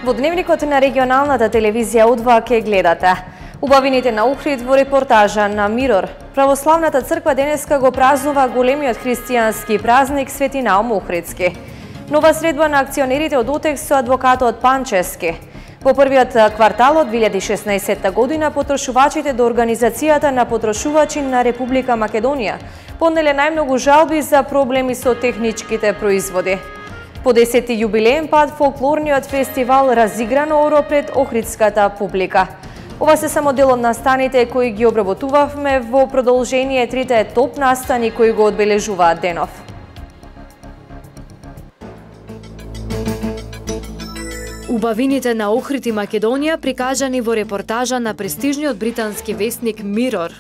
Во дневникот на регионалната телевизија Удва ке гледате убавините на Охрид во репортажа на Мирор. Православната црква денеска го празнува големиот христијански празник Свети Наум Охридски. Нова средба на акционерите од ОТЕКС со адвокатот Панчевски. Во првиот квартал од 2016 година потрошувачите до Организацијата на потрошувачи на Република Македонија поднеле најмногу жалби за проблеми со техничките производи. По 10-ти јубилеен пат фолклорниот фестивал разиграно оро пред охридската публика. Ова се само дел од настаните кои ги обработувавме во продолжение трите топ настани кои го одбележуваат денов. Убавините на Охрид и Македонија прикажани во репортажа на престижниот британски весник Мирор.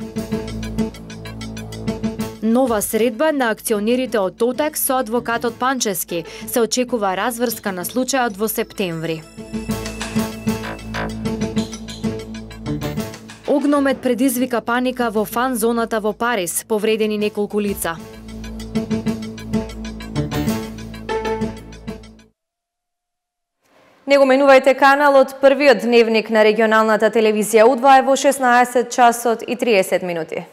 Нова средба на акционерите од ОТЕКС со адвокатот Панчевски. Се очекува разврска на случајот во септември. Огномет предизвика паника во фан зоната во Париз, повредени неколку лица. Не го менувајте каналот, првиот дневник на регионалната телевизија Удва е во 16 часот и 30 минути.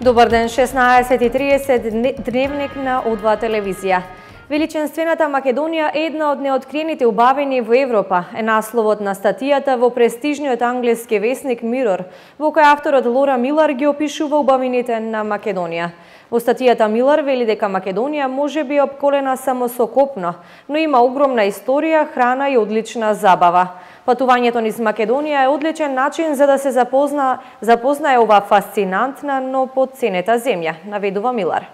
Добар ден, 16:30 дневник на Удва телевизија. Величенствената Македонија е една од неоткриените убавини во Европа, е насловот на статијата во престижниот англиски весник Мирор, во која авторот Лора Милар ги опишува убавините на Македонија. Во статијата Милар вели дека Македонија може би е опколена само со копно, но има огромна историја, храна и одлична забава. Патувањето низ Македонија е одличен начин за да се запознае ова фасцинантна, но потценета земја, наведува Милар.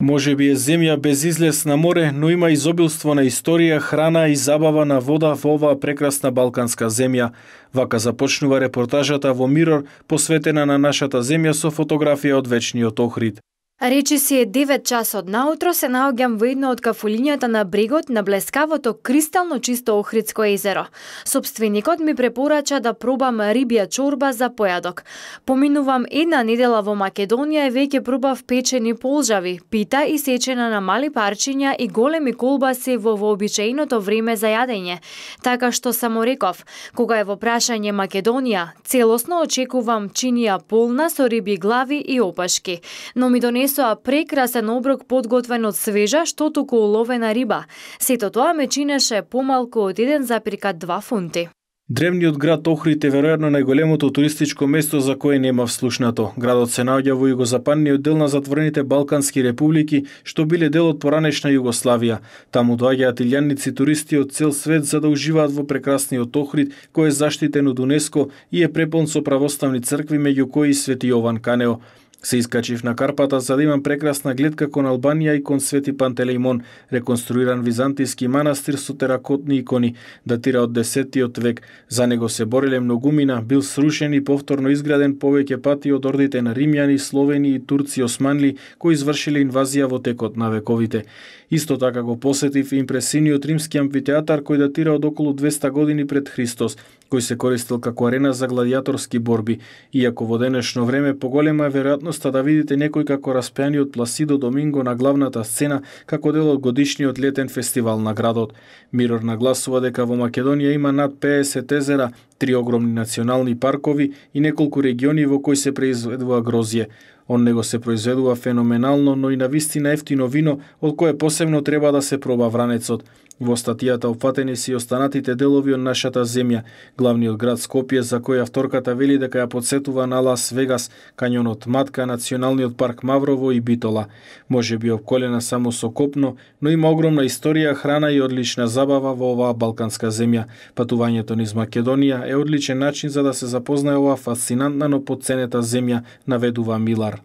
Може би е земја без излез на море, но има изобилство на историја, храна и забава на вода во оваа прекрасна балканска земја. Вака започнува репортажата во Мирор, посветена на нашата земја со фотографија од вечниот Охрид. Речи си е 9 часот наутро се наоѓам во едно од кафулињата на брегот на блескавото кристално чисто Охридско езеро. Собственикот ми препорача да пробам рибја чорба за појадок. Поминувам една недела во Македонија и веќе пробав печени полжави, пита и сечена на мали парчиња и големи колбаси во вообичаеното време за јадење. Така што само реков, кога е во прашање Македонија, целосно очекувам чинија полна со риби глави и опашки, но ми донесоа прекрасен оброк подготвен од свежа, што туку уловена риба. Сето тоа ме чинеше помалку од 1,2 фунти. Древниот град Охрид е веројатно најголемото туристичко место за кое нема вслушнато. Градот се наоѓа во југозападниот дел на затворените балкански републики, што биле дел од поранешна Југославија. Таму доаѓаат илјадници туристи од цел свет за да уживаат во прекрасниот Охрид, кој е заштитен од УНЕСКО и е препон со православни цркви, меѓу кои Свети Јован Канео. Се искачив на Карпата за да имам прекрасна гледка кон Албанија и кон Свети Пантелеимон, реконструиран византиски манастир со теракотни икони, датира од 10-тиот век. За него се бореле многумина, бил срушен и повторно изграден повеќе пати од ордите на римјани, словени и турци османли кои извршиле инвазија во текот на вековите. Исто така го посетив импресивниот римски амфитеатар кој датира од околу 200 години пред Христос, кој се користел како арена за гладијаторски борби, иако во денешно време поголема е веројатноста да видите некој како распеаниот Пласидо Доминго на главната сцена како дел од годишниот летен фестивал на градот. Мирор нагласува дека во Македонија има над 50 езера, 3 огромни национални паркови и неколку региони во кои се произведува грозје. Он него се произведува феноменално, но и навистина ефтино вино, од кое посебно треба да се проба вранецот. Во статијата опфатени се и останатите делови од нашата земја, главниот град Скопје, за кој авторката вели дека ја подсетува на Лас Вегас, кањонот Матка, националниот парк Маврово и Битола. Може би опколена само со копно, но има огромна историја, храна и одлична забава во оваа балканска земја. Патувањето низ Македонија е одличен начин за да се запознае оваа фасцинантна, но потценета земја, наведува Милар.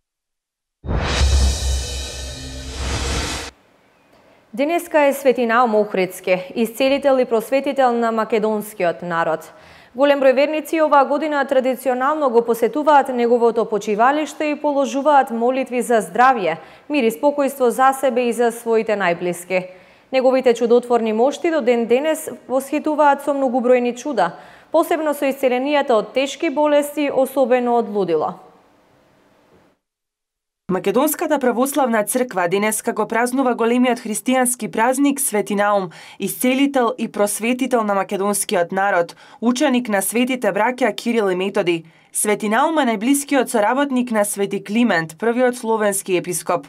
Денеска е Свети Наум Охридски, исцелител и просветител на македонскиот народ. Голем број верници оваа година традиционално го посетуваат неговото почивалиште и положуваат молитви за здравје, мир и спокојство за себе и за своите најблиски. Неговите чудотворни мошти до ден денес восхитуваат со многубројни чуда, посебно со исцеленијата од тешки болести, особено од лудило. Македонската православна црква денеска го празнува големиот христијански празник Свети Наум, исцелител и просветител на македонскиот народ, ученик на светите браќа Кирил и Методи. Свети Наум е најблискиот соработник на Свети Климент, првиот словенски епископ.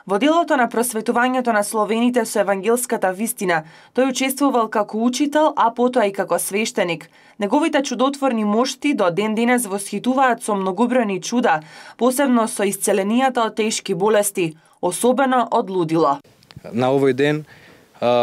Во делото на просветувањето на словените со евангелската вистина, тој учествувал како учител, а потоа и како свештеник. Неговите чудотворни мошти до ден денес восхитуваат со многобројни чуда, посебно со исцеленијата од тешки болести, особено од лудило. На овој ден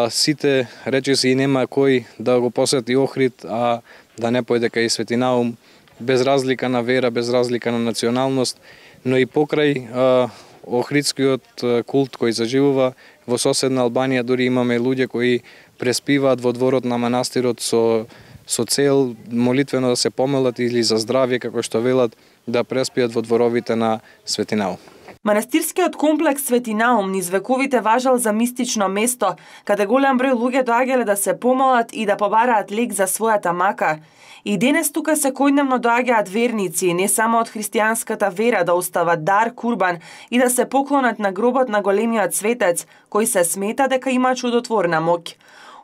сите речиси и нема кој да го посети Охрид, а да не појде кај Свети Наум, без разлика на вера, без разлика на националност, но и покрај охридскиот култ кој заживува во соседна Албанија, дури имаме луѓе кои преспиваат во дворот на манастирот со цел молитвено да се помолат или за здравје, како што велат, да преспиат во дворовите на Свети Наум. Манастирскиот комплекс Свети Наум низ вековите важал за мистично место, каде голем број луѓе доаѓале да се помолат и да побараат лек за својата мака. И денес тука секојдневно доаѓаат верници, не само од христијанската вера, да остават дар, курбан и да се поклонат на гробот на големиот светец, кој се смета дека има чудотворна моќ.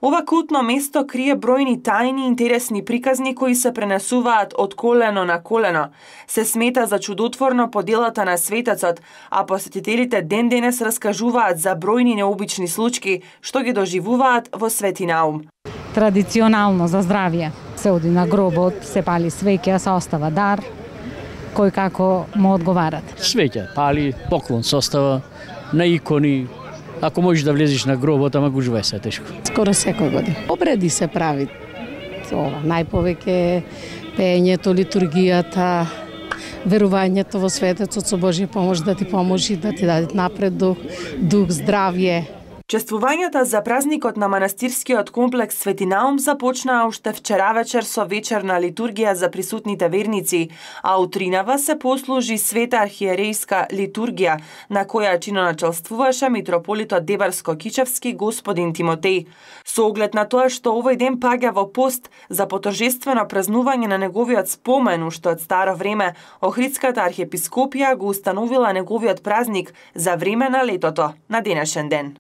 Ова култно место крие бројни тајни и интересни приказни кои се пренесуваат од колено на колено. Се смета за чудотворно по делата на светецот, а посетителите ден денес раскажуваат за бројни необични случаи што ги доживуваат во Свети Наум. Традиционално за здравје се оди на гробот, се пали свеќа, се остава дар, кој како му одговарат. Свеќа пали, поклон се остава, на икони. Ако можеш да влезеш на гробот, ама гужва е се тешко. Скоро секој година. Обреди се прави ова, најповеќе пеењето, литургијата, верувањето во светецот со Божја помош да ти поможи, да ти даде напред дух, здравје. Чествувањата за празникот на манастирскиот комплекс Свети Наум започнаа уште вчера вечер со вечерна литургија за присутните верници, а утринава се послужи света архиерејска литургија, на која чиноначелствуваше митрополитот Деварско-Кичевски господин Тимотеј. Со оглед на тоа што овој ден паѓа во пост за поторжествено празнување на неговиот спомен, уште од старо време, Охридската архиепископија го установила неговиот празник за време на летото, на денешен ден.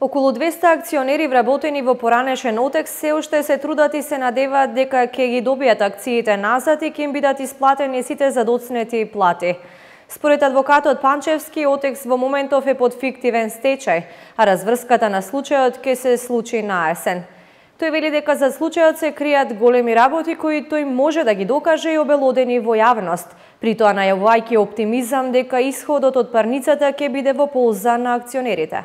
Околу 200 акционери вработени во поранешен отекс се уште се трудат и се надеваат дека ќе ги добијат акциите назад и ќе им бидат исплатени сите задоцнети плати. Според адвокатот Панчевски, отекс во моментов е под фиктивен стечај, а разврската на случајот ќе се случи на есен. Тој вели дека за случајот се кријат големи работи кои тој може да ги докаже и обелодени во јавност, при тоа најавувајќи оптимизам дека исходот од парницата ќе биде во полза на акционерите.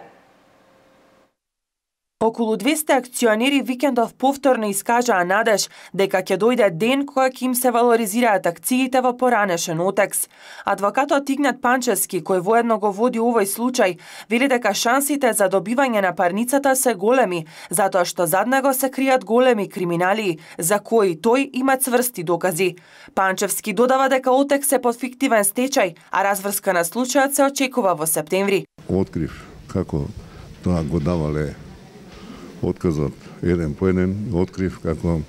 Околу 200 акционери викендов повторно искажаа надеж дека ќе дојде ден кога ќе им се валоризираат акциите во поранешен отекс. Адвокатот Игнат Панчевски, кој воедно го води овој случај, вели дека шансите за добивање на парницата се големи, затоа што зад него се кријат големи криминали, за кои тој има цврсти докази. Панчевски додава дека отекс е под фиктивен стечај, а разврска на случајот се очекува во септември. Открив како тоа го давале отказот еден по еден, открив како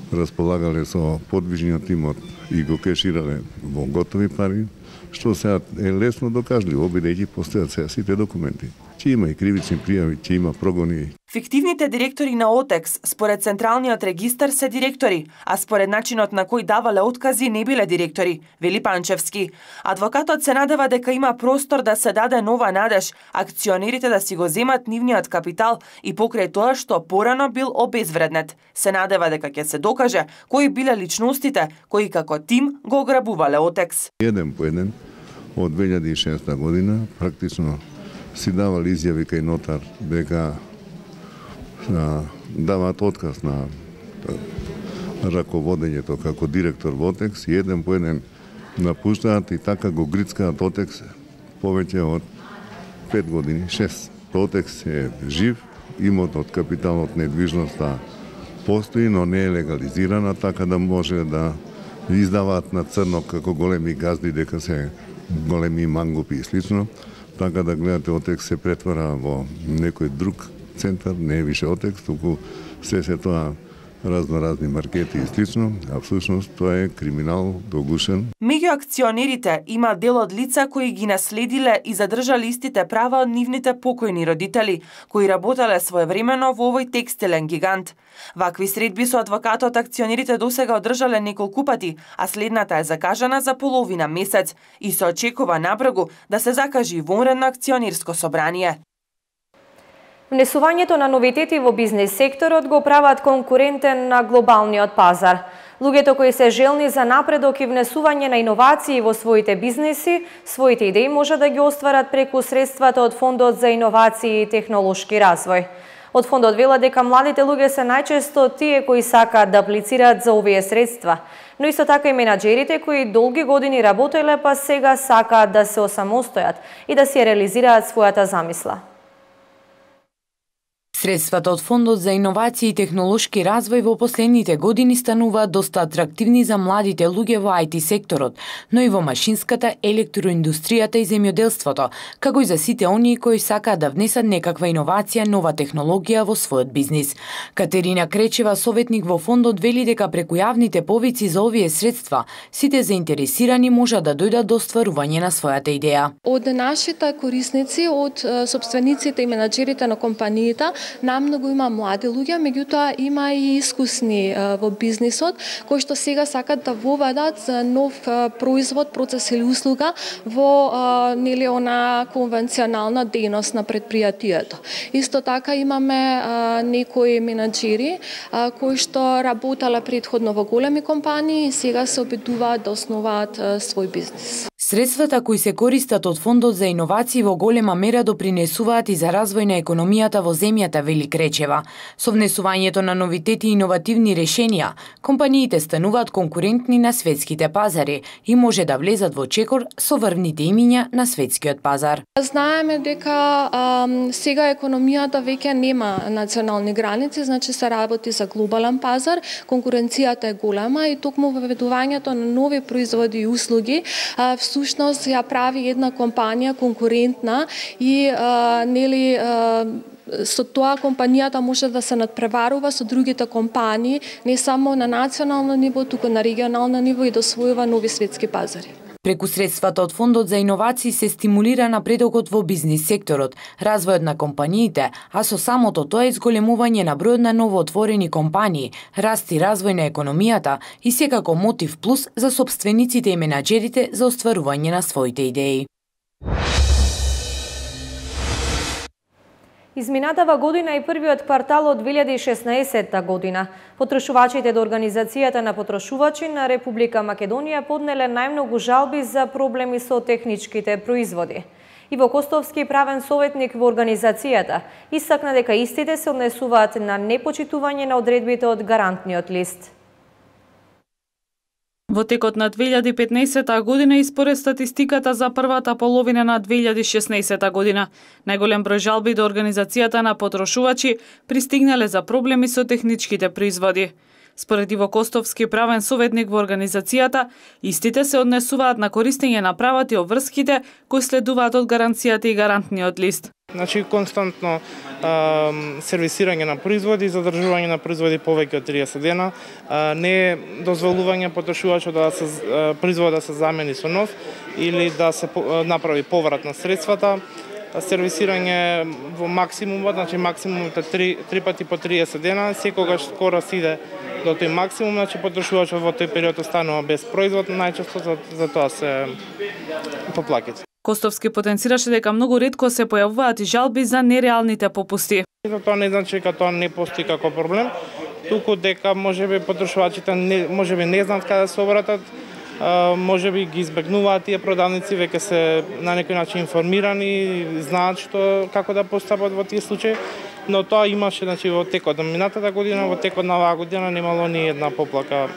располагале со подвижниот имот и го кеширале во готови пари, што сега е лесно докажливо, бидејќи постојат сега сите документи. Че има и кривични пријави, че има прогони. Фиктивните директори на ОТЕКС, според Централниот регистар, се директори, а според начинот на кој давале откази не биле директори, вели Панчевски. Адвокатот се надева дека има простор да се даде нова надеж, акционерите да си го земат нивниот капитал и покрај тоа што порано бил обезвреднет. Се надева дека ќе се докаже кои биле личностите кои како тим го ограбувале ОТЕКС. Еден по еден од 2006 година практично си давал изјави кај нотар дека даваат отказ на раководењето како директор во ОТЕКС и еден по еден напуштаат и така го грицкаат ОТЕКС повеќе од 5 години, 6. ОТЕКС е жив, имотот, капиталот, недвижноста постои, но не е легализирана, така да може да издаваат на црно како големи газди дека се големи мангупи и слично. Така да гледате, Отекс се претвара во некој друг центар, не е више Отекс, туку се тоа разни маркети и слично, а всушност тоа е криминал догушен. Меѓу акционерите има дел од лица кои ги наследиле и задржале истите права од нивните покојни родители, кои работеле своевремено во овој текстилен гигант. Вакви средби со адвокатот акционерите досега одржале неколку пати, а следната е закажана за половина месец и се очекува напрегу да се закажи вонредно акционерско собрание. Внесувањето на новитети во бизнес секторот го прават конкурентен на глобалниот пазар. Луѓето кои се желни за напредок и внесување на иновации во своите бизнеси, своите идеи може да ги остварат преку средствата од Фондот за иновации и технолошки развој. Од фондот велат дека младите луѓе се најчесто тие кои сакаат да аплицираат за овие средства, но исто така и менаџерите кои долги години работеле па сега сакаат да се осамостојат и да си реализираат својата замисла. Средствата од Фондот за иновации и технолошки развој во последните години стануваат доста атрактивни за младите луѓе во IT секторот, но и во машинската, електроиндустријата и земјоделството, како и за сите оние кои сакаат да внесат некаква иновација, нова технологија во својот бизнис. Катерина Кречева, советник во фондот, вели дека преку јавните повици за овие средства, сите заинтересирани можат да дојдат до остварување на својата идеја. Од нашите корисници, од сопствениците и менаџерите на компаниите, намногу има млади луѓе, меѓутоа има и искусни во бизнисот, кои што сега сакат да воведат нов производ, процес или услуга во она конвенционална дејност на предпријатието. Исто така имаме некои менаџери кои што работеле претходно во големи компании и сега се обидуваат да основаат свој бизнис. Средствата кои се користат од Фондот за иновации во голема мера допринесуваат и за развој на економијата во земјата, вели Кречева. Со внесувањето на новитети и иновативни решенија, компаниите стануваат конкурентни на светските пазари и може да влезат во чекор со врвните имиња на светскиот пазар. Знаеме дека сега економијата веќе нема национални граници, значи се работи за глобален пазар, конкуренцијата е голема и токму воведувањето на нови производи и услуги всушност ја прави една компанија конкурентна и со тоа компанијата може да се надпреварува со другите компании, не само на национално ниво, туку на регионално ниво и да освојува нови светски пазари. Преку средствата од Фондот за иновации се стимулира напредокот во бизнис секторот, развојот на компаниите, а со самото тоа изголемување на бројот на новоотворени компании, раст и развој на економијата и секако мотив плюс за сопствениците и менаџерите за остварување на своите идеи. Изминатава година и првиот квартал од 2016 година, потрошувачите до Организацијата на потрошувачи на Република Македонија поднеле најмногу жалби за проблеми со техничките производи. Иво Костовски, правен советник во Организацијата, истакна дека истите се однесуваат на непочитување на одредбите од гарантниот лист. Во текот на 2015 година и според статистиката за првата половина на 2016 година, најголем број жалби до Организацијата на потрошувачи пристигнале за проблеми со техничките производи. Според Иво Костовски, правен советник во Организацијата, истите се однесуваат на користење на правата и обврските кои следуваат од гаранцијата и гарантниот лист. Значи, константно сервисирање на производи, задржување на производи повеќе од 30 дена, не дозволување потрошувачот да се производот да се замени со нов или да се направи поврат на средствата, сервисирање во максимумот, значи максимумот е 3 пати по 30 дена, секогаш скоро се иде до тој максимум, значи потрошувачот во тој период останува без производ, најчесто за тоа се поплаките. Костовски потенцираше дека многу ретко се појавуваат и жалби за нереалните попусти. Тоа не значи дека тоа не постои како проблем, туку дека можеби потрошувачите можеби не знаат каде се обратат, можеби ги избегнуваат тие продавници, веќе се на некој начин информирани, знаат како да постапат во тие случаи, но тоа имаше во текот на минатата година, во текот на оваа година немало ни една поплака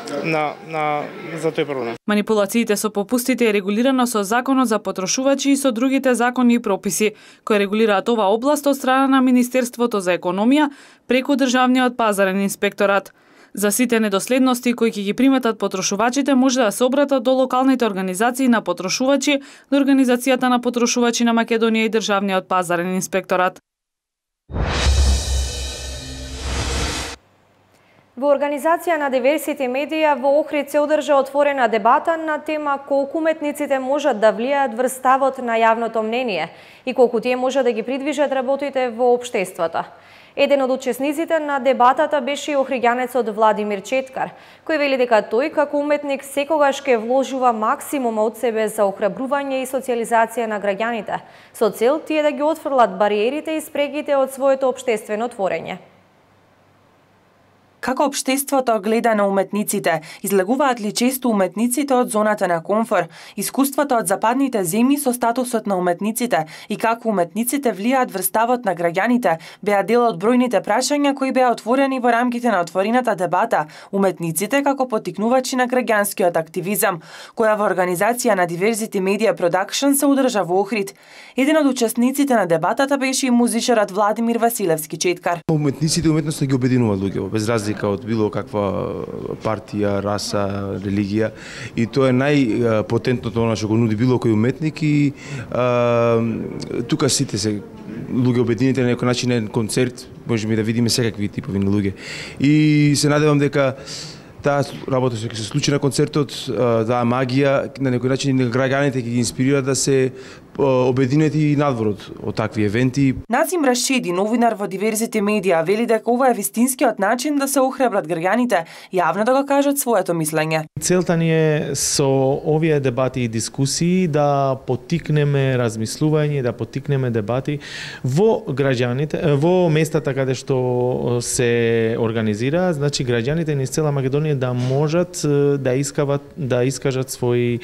за тој проблем. Манипулациите со попустите е регулирано со Законот за потрошувачи и со другите закони и прописи кои регулираат оваа област од страна на Министерството за економија преку Државниот пазарен инспекторат. За сите недоследности кои ќе ги приметат потрошувачите може да се обратат до локалните организации на потрошувачи, до Организацијата на потрошувачи на Македонија и Државниот пазарен инспекторат. Во Организација на Diversity Media во Охрид се одржа отворена дебата на тема колку уметниците можат да влијаат врз ставот на јавното мнение и колку тие можат да ги придвижат работите во општеството. Еден од учесниците на дебатата беше и охриѓанецот Владимир Четкар, кој вели дека тој како уметник секогаш ке вложува максимум од себе за охрабрување и социализација на граѓаните, со цел тие да ги отфрлат бариерите и спрегите од своето општествено творење. Како општеството гледа на уметниците? Излегуваат ли често уметниците од зоната на комфор? Искуството од западните земји со статусот на уметниците и како уметниците влијаат врз ставот на граѓаните беа дел од бројните прашања кои беа отворени во рамките на отворената дебата Уметниците како поттикнувачи на граѓанскиот активизам, која во Организација на Diversity Media Production се одржа во Охрид. Еден од учесниците на дебатата беше и музичарот Владимир Василевски Четкар. Уметниците уметноста ги обединуваат луѓе, без разлика од било каква партија, раса, религија, и тоа е најпотентното она што го нуди било кој уметник и тука сите се луѓе обединети на некој начин на концерт, можеме да видиме секакви типови на луѓе. И се надевам дека таа работа што ќе се случи на концертот, таа магија на некој начин граѓаните ќе ги инспирира да се обединети и надвор од такви евенти. Назим Рашиди, новинар во Diversity Media, вели дека ова е вистинскиот начин да се охрабрат граѓаните јавно да го кажат своето мислење. Целта ни е со овие дебати и дискусии да поттикнеме размислување, да поттикнеме дебати во граѓаните, во местата каде што се организира, значи граѓаните низ цела Македонија да можат да искажат своји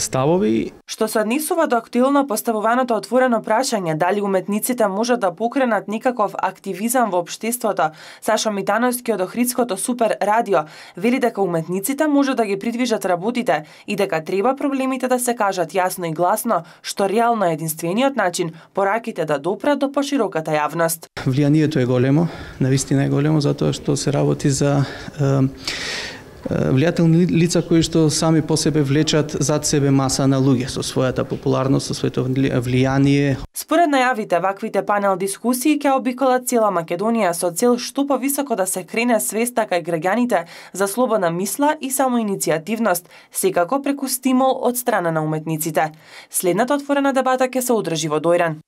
ставови. Што се однесува до актуелно поставуваното отворено прашање дали уметниците можат да покренат некаков активизам во општеството, Сашо Митановски од Охридското Супер радио вели дека уметниците можат да ги придвижат работите и дека треба проблемите да се кажат јасно и гласно, што реално е единствениот начин пораките да допрат до пошироката јавност. Влијанието е големо, навистина е големо, затоа што се работи за влијателни лица кои што сами по себе влечат зад себе маса на луѓе со својата популарност, со своето влијание. Според најавите, ваквите панел дискусии ќе обиколат цела Македонија со цел што повисоко да се крене свеста кај граѓаните за слободна мисла и самоиницијативност, секако преку стимул од страна на уметниците. Следната отворена дебата ќе се одржи во Дојран.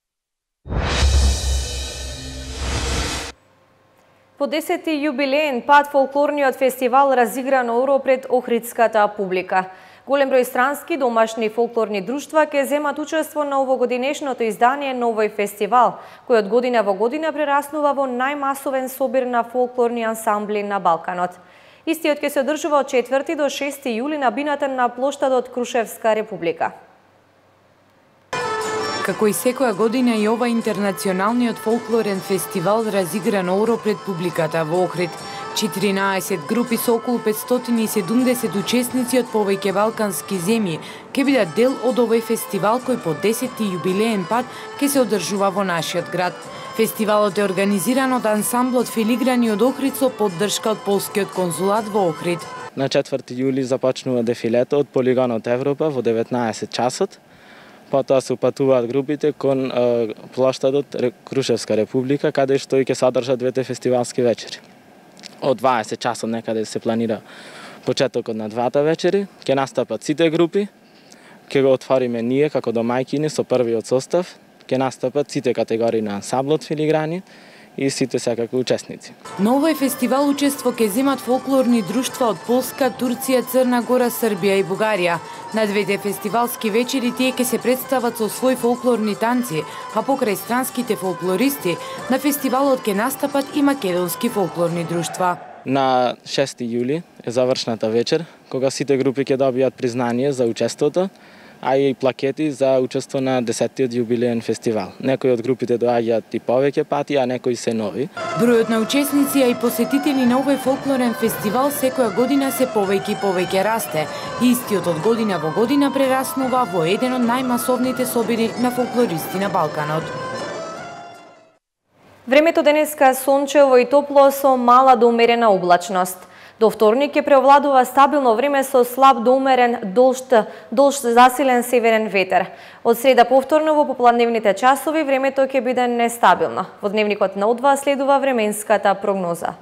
По 10-ти јубилеен пат фолклорниот фестивал разигра на уро пред охридската публика. Голем број странски домашни фолклорни друштва ќе земат учество на овогодинешното издание Новој фестивал, кој од година во година прераснува во најмасовен собир на фолклорни ансамбли на Балканот. Истиот ќе се одржува од 4 до 6 јули на бината на плоштадот Крушевска република. Како и секоја година и ова интернационалниот фолклорен фестивал разигра на уро пред публиката во Охрид. 14 групи со околу 570 учесници од повеќе балкански земји ќе бидат дел од овој фестивал кој по 10-ти јубилеен пат ќе се одржува во нашиот град. Фестивалот е организиран од ансамблот Филиграни од Охрид со поддршка од полскиот конзулат во Охрид. На 4 јули започнува дефилето од полигонот Европа во 19 часот. Потоа се упатуваат групите кон плоштадот Крушевска република, каде што и ќе содржат двете фестивалски вечери. Од 20 часот некаде се планира почетокот на двата вечери, ќе настапат сите групи, ќе го отвориме ние како домајкини со првиот состав, ќе настапат сите категории на ансамблот Филиграни и сите секако учесници. На овој фестивал учество ќе земат фолклорни друштва од Полска, Турција, Црна Гора, Србија и Бугарија. На двете фестивалски вечери тие ќе се представат со свој фолклорни танци, а покрај странските фолклористи, на фестивалот ќе настапат и македонски фолклорни друштва. На 6 јули е завршната вечер, кога сите групи ќе добијат признание за учеството, а и плакети за учество на 10-тиот јубилеен фестивал. Некои од групите доаѓаат и повеќе пати, а некои се нови. Бројот на учесници и посетители на овој фолклорен фестивал секоја година се повеќе и повеќе расте. Истиот од година во година прераснува во еден од најмасовните собири на фолклористи на Балканот. Времето денеска сончево и топло со мала до умерена облачност. До вторник ќе преовладува стабилно време со слаб до умерен долж засилен северен ветер. Од среда повторно во попладневните часови времето ќе биде нестабилно. Во дневникот на Удва следува временската прогноза.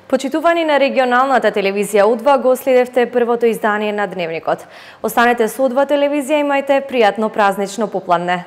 Почитувани на регионалната телевизија Удва, го следевте првото издание на Дневникот. Останете со Удва телевизија, имајте пријатно празнично попладне.